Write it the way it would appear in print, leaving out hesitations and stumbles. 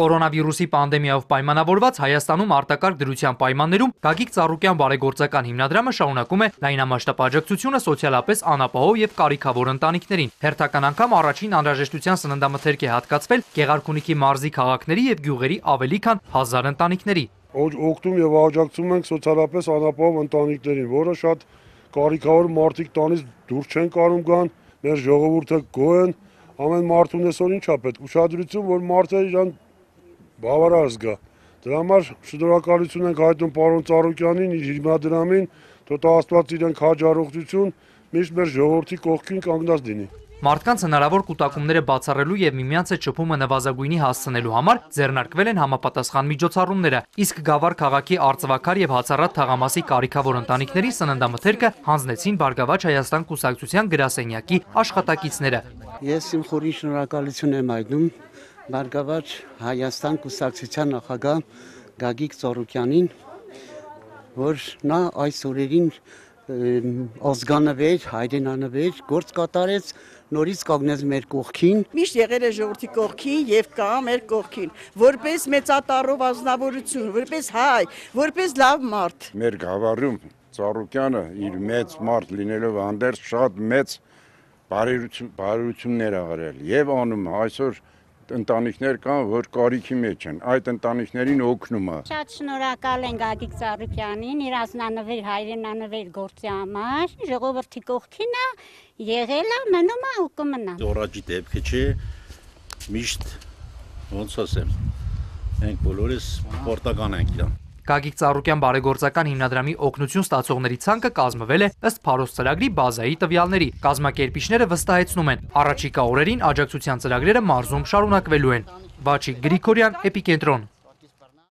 Կորոնավիրուսի պանդեմիայով պայմանավորված Հայաստանում արտակարգ դրության պայմաններում Գագիկ Ծառուկյան բարեգործական հիմնադրամը շարունակում է լայնամասշտաբ աջակցությունը սոցիալապես անապահով եւ կարիքավոր ընտանիքներին։ Հերթական անգամ առաջին անհրաժեշտության սննդամթերք է հատկացվել Գեղարքունիքի մարզի քաղաքների եւ գյուղերի ավելի քան 1000 ընտանիքների։ Օգնում եւ աջակցում ենք սոցիալապես անապահով ընտանիքներին, որը շատ կարիքավոր մարդիկ տանից դուրս չեն կարող գան, մեր ժողովուրդը գոհ են, ամեն մարդուն այսօր ինչա պետք, ուշադրություն, որ մարդը իրան բավարար զգա։ Դրա համար շնորհակալություն ենք հայտնում պարոն Ծառուկյանին, իր հիմնադրամին, թող Աստված իրենք հաջողություն, միշտ մեր ժողովրդի կողքին կանգնած լինի։ Մարդկանց հնարավոր կուտակումները բացառելու եւ միմյանց հետ շփումը նվազագույնի հասցնելու համար ձեռնարկվել են համապատասխան միջոցառումները, իսկ Գավառ քաղաքի Արծվաքար եւ Հացառատ թաղամասի կարիքավոր ընտանիքների սննդամթերքը հանձնեցին Բարգավաճ Հայաստան կուսակցության գրասենյակի աշխատակիցները։ Ես իմ խորին շնորհակալություն եմ հայտնում Բարգավաճ Հայաստան կուսակցության նախագահ Գագիկ Ծառուկյանին, որ նա այս օրերին ազգանվեր, հայրենանվեր, գործ կատարեց, նորից կանգնեց մեր կողքին։ Միշտ եղել է ժողովրդի կողքին եւ կա մեր կողքին, որպես մեծատառով ազնվորություն, որպես հայ, որպես լավ մարդ։ Մեր գավառում Ծառուկյանը իր մեծ մարդ լինելով հանդերձ շատ մեծ բարերություններ ա արել եւ անում այսօր ընտանիքներ կան, որ կարիքի մեջ են, այդ ընտանիքներին օգնում է։ Շատ շնորհակալ ենք Գագիկ Ծառուկյանին, իր ազնանվեր, հայրենանվեր գործի համար, ժողովրդի կողքին է, եղել է, մնում է ու կմնա։ Առաջի դեպքը չէ, միշտ ոնց ասեմ, մենք բոլորս պարտական ենք իրան։ Գագիկ Ծառուկյան բարեգործական հիմնադրամի օգնություն ստացողների ցանկը կազմվել է ըստ Փարոս ծրագրի բազայի տվյալների։ Կազմակերպիչները վստահեցնում են, առաջիկա օրերին աջակցության ծրագրերը մարզում շարունակվելու են։ Վաչիկ Գրիգորյան, Էպիկենտրոն։